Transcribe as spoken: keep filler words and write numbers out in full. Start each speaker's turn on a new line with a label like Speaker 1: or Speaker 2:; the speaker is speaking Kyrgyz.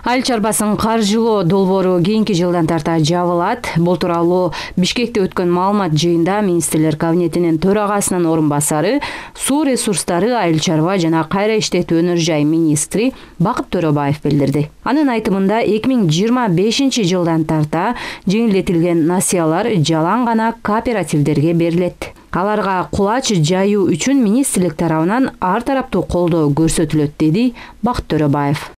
Speaker 1: Айыл чарбасын каржылоо долбоору кийинки жылдан тарта жабылат. Бул тууралуу Бишкекте өткөн маалымат жыйында министрлер кабинетинин төрагасынын орун басары, суу ресурстары, айыл чарба жана кайра иштетүү өнөр жай министри Бакыт Төрөбаев билдирди. Анын айтымында эки миң жыйырма бешинчи жылдан тарта жеңилдетилген насыялар жалаң гана кооперативдерге берилет. Аларга кулач жайуу үчүн министрлик тарабынан ар тараптуу колдоо көрсөтүлөт, деди Бакыт Төрөбаев.